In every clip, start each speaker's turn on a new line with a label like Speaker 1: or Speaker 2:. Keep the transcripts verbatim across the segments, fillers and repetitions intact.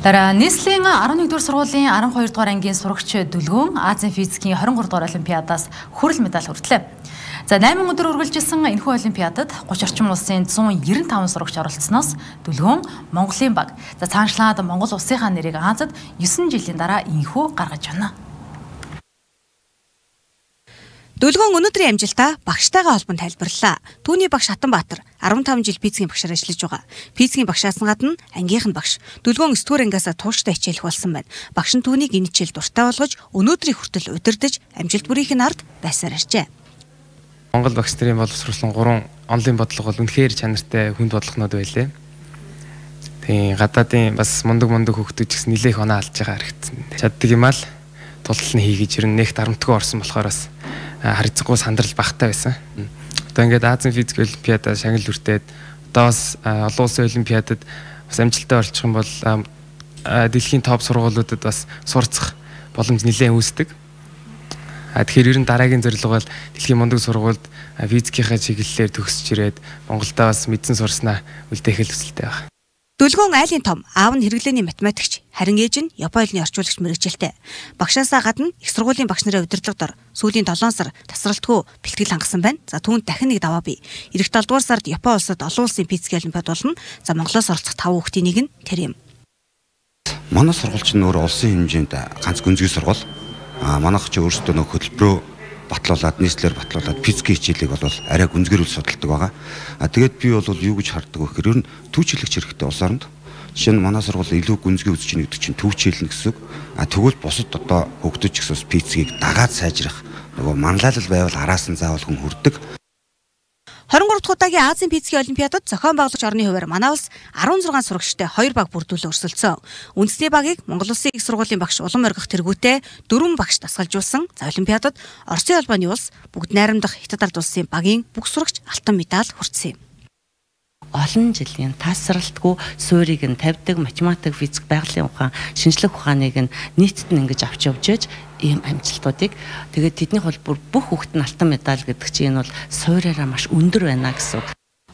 Speaker 1: Дараа нийслэлийн арван нэгдүгээр сургуулийн арван хоёр дугаар ангийн сурагч Дүлгөөн Азийн физикийн двадцать три дугаар олимпиадаас хүрэл медаль хүртлээ. За найман өдөр үргэлжилсэн энэхүү олимпиадад гуч орчим улсын зуун девяносто таван сурагч оролцсноос Дүлгөөн Монголын баг. За цаанчлаад Монгол улсынхаа нэрийг Азад девять жилийн дараа энэхүү гаргаж байна.
Speaker 2: Дүлгөөн өнөөдрийн амжилтаа багштайгаа холбон тайлбарллаа. Түүний багш Хатанбаатар арван таван жил физикийн багшаар ажиллаж байгаа. Физикийн багшаас гадна ангийнх нь багш. Дүлгөөн девять ангиасаа тууштай хичээлэх болсон байна. Багш нь түүнийг энэ хичээл дуртай болгож өнөөдрийн хүртэл удирдах амжилт бүрийнх нь ард байсаар иржээ.
Speaker 3: Монгол багш нарын боловсруулсан гурван онлын бодлого бол үнэхээр чанартай хүнд бодлогонууд байлээ. Тэгээ гадаадын бас мундаг мундаг хүүхдүүд ч гэсэн нэлээх оноо алж байгаа харагдсан. Чаддаг юм аа л тултал нь хийгэж ирнэ нэг дарамтгүй орсон болохоор бас харилцахгүй сандрал багтаа байсан. Одоо ингээд Азийн физик олимпиадад шагнал хүртээд одоо бас олон улсын олимпиадад бас амжилттай орчих юм бол дэлхийн топ сургуулиудад бас сурцах боломж нэлээд үүсдэг. Тэгэхээр ер нь дараагийн зорилго бол дэлхийн мундаг сургуульд физикийнхаа чиглэлээр төгсөж ирээд Монголда бас мэдсэн сурснаа үлдээх хүсэлтэй байна.
Speaker 2: Дүлгөөн айлын том, аав нь хэрэглээний математикч, харин ээж нь Японы хэлний орчуулагч мэргэжилтэй. Багшаасаа гадна их сургуулийн багш нарын удирдлагадор сүүлийн долоон сар тасралтгүй бэлтгэл хангасан байна. За түүнд дахин нэг даваа бий. Ирэх долоо дугаар сард Японы улсад олон улсын физик олимпиад болно. За Монголоос оролцох таван хүүхдийн нэг нь тэр юм.
Speaker 4: Манай сургууль чинь өөр улсын хэмжээнд ганц гүнзгий сургууль. Аа манайх чи өөрсдөө нөх хөтөлбөрөө батлуулаад нийслэлээр батлуулаад физикийн хичээлийг бол арай гүнзгийрүүл судалдаг байгаа. А тэгээд би бол юу гэж харддаг вэ гэхээр ер нь түүчилэгч хэрэгтэй улс оронд. Жишээ нь манай сургууль илүү гүнзгий үзэж ийн гэдэг чинь түүчилнэ гэсэн үг. А тэгвэл бусад одоо хөгдөж ихсээс физикийг дагаад сайжрах нөгөө манлайлал байвал араас нь заавал хүн хүрдэг.
Speaker 2: двадцать три дахь удаагийн Азийн физикийн олимпиадад зохион байгуулагч орны хувьар манай улс арван зургаан сурагчтай хоёр баг бүрдүүлэн өрсөлдсөн. Үндэсний багийг Монгол Улсын их сургуулийн багш улам оргих тэргүүтээ дөрвөн багш дасгалжуулсан. За олимпиадад Оросын албаны улс бүгд найрамдах Хятад ард улсын багийн бүх сурагч алтан медаль хүртсэн юм.
Speaker 5: Олон жилийн тасралтгүй суурийг нь тавьдаг математик, физик, байгалийн ухаан, шинжлэх ухааныг нь нийтэд нь ингэж авч явж ээж ийм амжилтуудыг тэгээд тэднийх бол бүр бүх хүүхэд нь алтан медаль гэдэг чинь энэ бол суураараа маш өндөр байна гэсэн үг.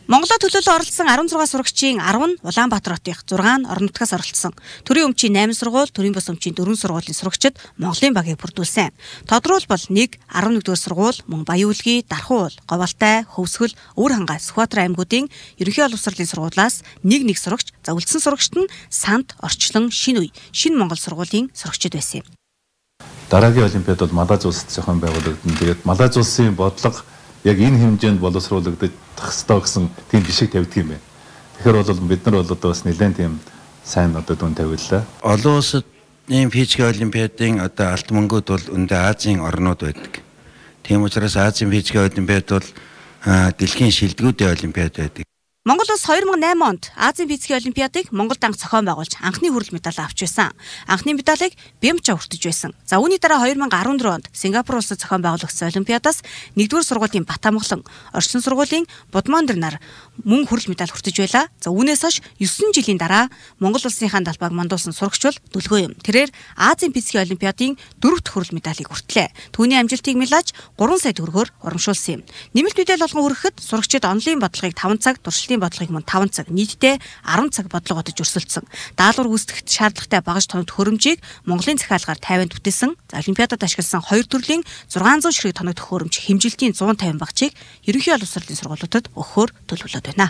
Speaker 2: Монголоо төлөөлөн оролцсон арван зургаан сурагчийн арван нь Улаанбаатар хотынх, зургаан нь орон нутгаас оролцсон. Төрийн өмчийн найман сургууль, төрийн бус өмчийн дөрвөн сургуулийн сурагчид Монголын багийг бүрдүүлсэн. Тодорхойлбол нэг арван нэгдүгээр сургууль, мөн Баян-Үлгий, Дархан уул, Говьалтай, Хөвсгөл, Өвөр хангай, Сүхбаатар аймагуудын ерөнхий боловсролын сургуулиас нэг нэг сурагч, за үлдсэн сурагчид нь Санд, Орчлон, Шинэ үе, Шинэ Монгол сургуулийн сурагчид байсан юм.
Speaker 6: Дараагийн олимпиад бол Малайз улсад зохион байгуулагдана. Тэгээд Малайз улсын бодлого яг энэ хэмжээнд боловсруулагдах ёстой гэсэн тийм жишээ тавьдаг юм байна. Тэгэхээр бол бид нар бол одоо бас нэлээд тийм сайн одоо дүн тавилаа.
Speaker 7: Олон улсад ийм физик олимпиадын одоо алт мөнгөд бол өндөө Азийн орнууд байдаг. Тийм учраас Азийн физик олимпиад бол дэлхийн шилдэгүүдийн олимпиад байдаг.
Speaker 2: Монгол улс two thousand eight онд Азийн физикийн олимпиадыг Монголд анх зохион байгуулж анхны хүрэл медаль авч байсан. Анхны медалийг Бямча хүртэж байсан. За үүний дараа two thousand fourteen онд Сингапур улсад зохион байгуулагдсан олимпиадаас нэгдүгээр сургуулийн Батамглан, орчин сургуулийн Будмандэр нар мөн хүрэл медаль хүртэж байлаа. За үүнээс хойш nine жилийн дараа Монгол улсынхаа далбааг мандуулсан сурагч бол Дүлгөөн юм. Тэрээр Азийн физикийн олимпиадын дөрөвт хүрэл медалийг хүртлээ. Түүний амжилтыг мэлж three сая төгрөгөөр урамшуулсан юм. Нэмэлт мэдээлэл болгон хүрэхэд сурагчид онлын бодлогыг five цаг, туршлагын бодлогыг мөн five цаг, нийтдээ ten цаг бодлого бодож өрсөлдсөн. Даалгавар гүйцэтгэхэд шаардлагатай багаж тоног хөрөмжийг Монголын захиалгаар тавианд бүтээсэн. За олимпиадад ашигласан хоёр төрлийн six hundred ширхэг тоног хөрөмж хэмжилтийн one fifty багчийг ерөнхий боловсролын сургуулиудад өгөхөөр төлөвлөд байна.